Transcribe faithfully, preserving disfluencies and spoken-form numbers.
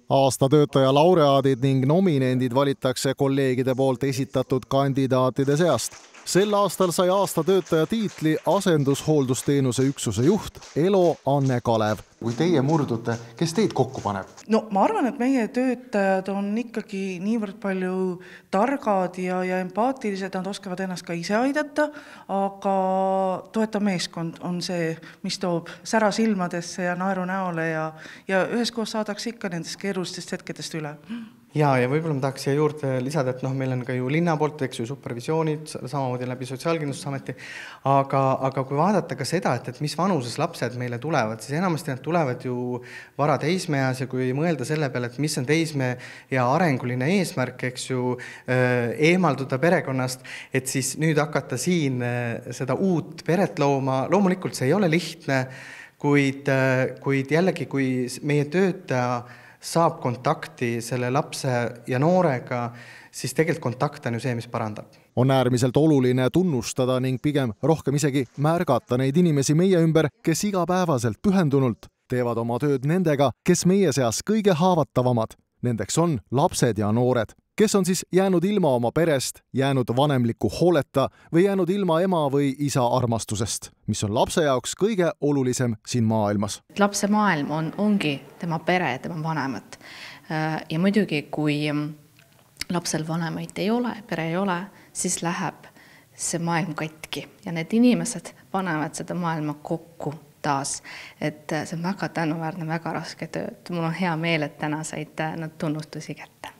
Aasta töötaja laureaadid ning nominendid valitakse kolleegide poolt esitatud kandidaatide seast. Sel aastal sai aasta töötaja tiitli asendushooldusteenuse üksuse juht Elo Anne Kalev. Kui teie murdute, kes teid kokku paneb? No ma arvan, et meie töötajad on ikkagi niivõrd palju targad ja, ja empaatilised, nad oskavad ennast ka ise aidata, aga toetav meeskond on see, mis toob sära silmadesse ja naeru näole ja, ja üheskoos saadakse ikka nendest keerulistest hetkedest üle. Ja, ja võib-olla ma tahaks siia juurde lisada, et noh, meil on ka ju linna poolt, eks ju, supervisioonid, samamoodi läbi Sotsiaalkindlustusameti, aga, aga kui vaadata ka seda, et, et mis vanuses lapsed meile tulevad, siis enamasti nad tulevad ju vara teismeeas ja kui mõelda selle peale, et mis on teisme ja arenguline eesmärk, eks ju, eemalduda perekonnast, et siis nüüd hakata siin seda uut peret looma, loomulikult see ei ole lihtne, kuid, kuid jällegi, kui meie töötaja saab kontakti selle lapse ja noorega, siis tegelikult kontakt on ju see, mis parandab. On äärmiselt oluline tunnustada ning pigem rohkem isegi märgata neid inimesi meie ümber, kes igapäevaselt pühendunult teevad oma tööd nendega, kes meie seas kõige haavatavamad. Nendeks on lapsed ja noored, kes on siis jäänud ilma oma perest, jäänud vanemliku hooleta või jäänud ilma ema või isa armastusest, mis on lapse jaoks kõige olulisem siin maailmas. Lapse maailm on, ongi tema pere, tema vanemad. Ja muidugi, kui lapsel vanemaid ei ole, pere ei ole, siis läheb see maailm katki ja need inimesed panevad seda maailma kokku taas. Et see on väga tänuväärne, väga raske töö. Mul on hea meel, et täna said nad tunnustusi kätte.